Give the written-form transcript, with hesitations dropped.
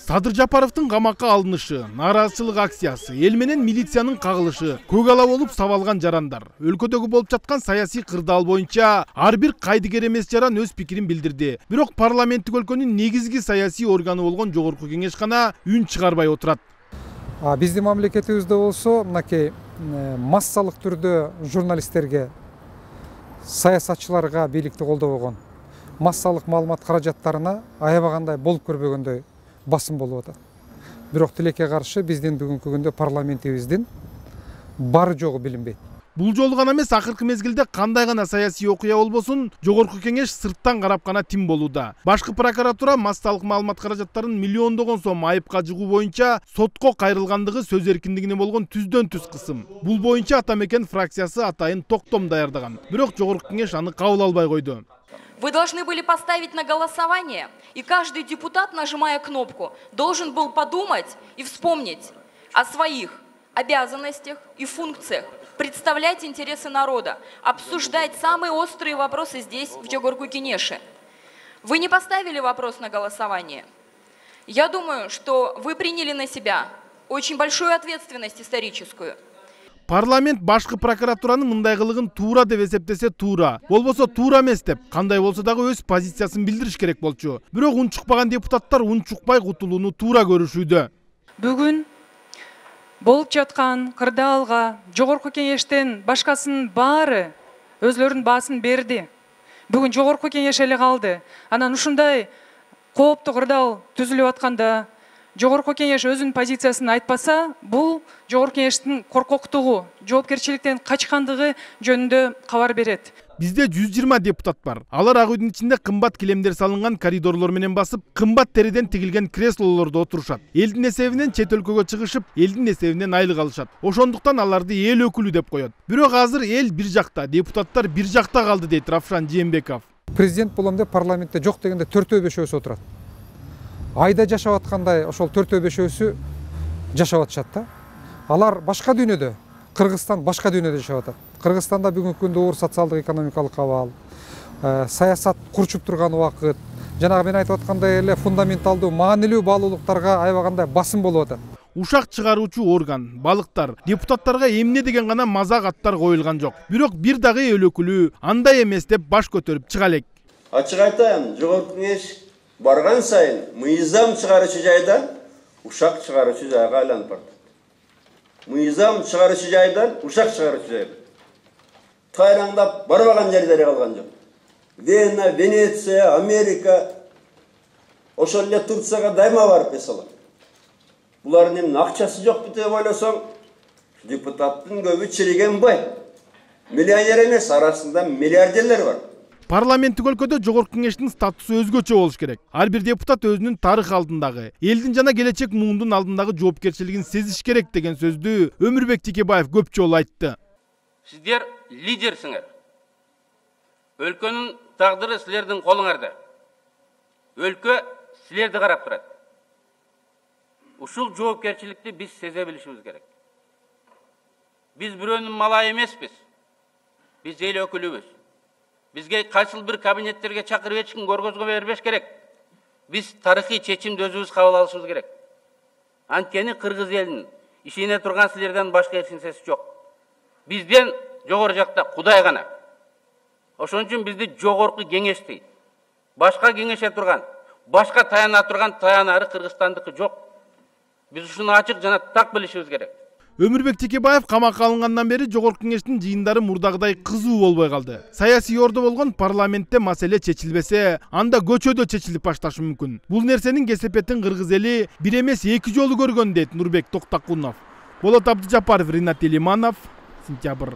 Садыр Жапаровдун камакка алынышы, нааразычылык акциясы, эл менен милициянын кагылышы, көк ала болуп сабалган жарандар. Өлкөдөгү болуп жаткан саясий кырдаал боюнча ар бир кайдыгер эмес жаран өз пикирин билдирди. Бирок парламенттик өлкөнүн негизги саясий органы болгон Жогорку Кеңеш гана үн чыгарбай отурат. Биздин мамлекетибизде болсо, мынакей массалык түрдө журналисттерге, саясатчыларга бийликти колдобогон массалык маалымат каражаттарына аябагандай болуп көрбөгөндөй басым болуп атат. Бирок тилекке каршы биздин бүгүнкү күндө парламентибиздин бары жогу билинбейт. Бул жолу гана эмес, акыркы мезгилде кандай гана саясий окуя болбосун, Жогорку Кеңеш сырттан карап гана тим болууда. Башкы прокуратура массалык маалымат каражаттарын миллиондогон сом айыпка жыгуу боюнча сотко кайрылгандыгы сөз эркиндигине болгон түздөн түз кысым. Бул боюнча ата мекен фракциясы атайын токтом даярдаган. Бирок Жогорку Кеңеш аны кабыл албай койду. Вы должны были поставить на голосование, и каждый депутат, нажимая кнопку, должен был подумать и вспомнить о своих обязанностях и функциях, представлять интересы народа, обсуждать самые острые вопросы здесь, в Жогорку Кеңеше. Вы не поставили вопрос на голосование. Я думаю, что вы приняли на себя очень большую ответственность историческую. Парламент башкы прокуратуранын мындай кылыгын туура деп эсептесе туура, болбосо туура эмес деп, кандай болсо дагы өз позициясын билдириш керек болчу. Бирок унчукпаган депутаттар унчукпай кутулууну туура көрүшүүдө. Бүгүн болуп жаткан кырдаалга Жогорку Кеңештен башкасынын баары өзлөрүнүн баасын берди. Бүгүн Жогорку Кеңеш эле калды. Анан ушундай кооптуу кырдаал түзүлүп атканда Жогорку Кеңеш өзүнүн позициясын айтпаса, бул Жогорку Кеңештин коркоктугу, жоопкерчиликтен качкандыгы жөнүндө кабар берет. Бизде 120 депутат бар. Алар ак үйдүн ичинде кымбат килемдер салынган коридорлор менен басып, кымбат териден тигилген креслолордо отурушат. Элдин эсебинен чет өлкөгө чыгышып, элдин эсебинен айлык алышат. Ошондуктан аларды эл өкүлү деп коет. Бирок азыр эл бир жакта, депутаттар бир жакта калды дейт Равшан Жээнбеков. Президент болом деп парламентте жок дегенде 4-5 отурат. Айда жашап аткандай ошол 4-5 жашап атышат да. Алар башка дүйнөдө, Кыргызстан башка дүйнөдө жашап атат. Кыргызстанда бүгүнкү күндө оор социалдык экономикалык абал, саясат курчуп турган убакыт, жанагы мен айтып аткандай эле фундаменталдуу, маанилүү баалуулуктарга аябагандай басым болуп атат. Ушак чыгаруучу орган, балыктар, депутаттарга эмне деген гана мазак аттар коюлган жок. Бирок бир дагы эл өкүлү андай эмес деп баш көтөрүп чыга элек. Ачык айтайын, Жогорку Кеңеш барган сайын мыйзам чыгаруучу жайдан ушак чыгаруучу жайга айланып барат. Мыйзам чыгаруучу жайдан ушак чыгаруучу жайга тайлаңдап барбаган жерлери калган жок. Вена, Венеция, Америка, ошол эле Турцияга дайыма барып эсалат. Булардын эмне акчасы жокпу деп ойлосоң, депутаттын көбү чириген бай. Миллионер эмес, арасында миллиардерлер бар. Парламенттик өлкөдө Жогорку Кеңештин статусу өзгөчө болуш керек. Ар бир депутат өзүнүн тарых алдындагы, элдин жана келечек муундун алдындагы жоопкерчилигин сезиш керек деген сөздү Өмүрбек Текебаев көп жолу айтты. Сиздер лидерсиңер. Өлкөнүн тагдыры силердин колуңарда. Өлкө силерди карап турат. Ушул жоопкерчиликти биз сезе билишибиз керек. Биз бирөөнүн малайы эмеспиз. Биз эл өкүлүбүз. Бизге кайсыл бир кабинеттерге чакырып эч ким көргөзгө бербеш керек. Биз тарыхый чечимди өзүбүз кабыл алышыбыз керек. Анткени кыргыз элинин ишене турган силерден башка эч нерсеси жок. Бизден жогору жакта Кудай гана. Ошон үчүн бизди Жогорку Кеңеш дейт. Башка кеңеше турган, башка таяна турган таянары Кыргызстандыкы жок. Биз ушуну ачык жана так билишибиз керек. Өмүрбек Текебаев камакка алынгандан бери Жогорку Кеңештин жыйындары мурдагыдай кызуу болбой калды. Саясий ордо болгон парламентте маселе чечилбесе, анда көчөдө чечилип башташы мүмкүн. Бул нерсенин кесепетин кыргыз эли бир эмес 2 жолу көргөн дейт Нурбек Токтакунов. Болот Абдыжапаров, Ринат Элиманов, Сентябрь.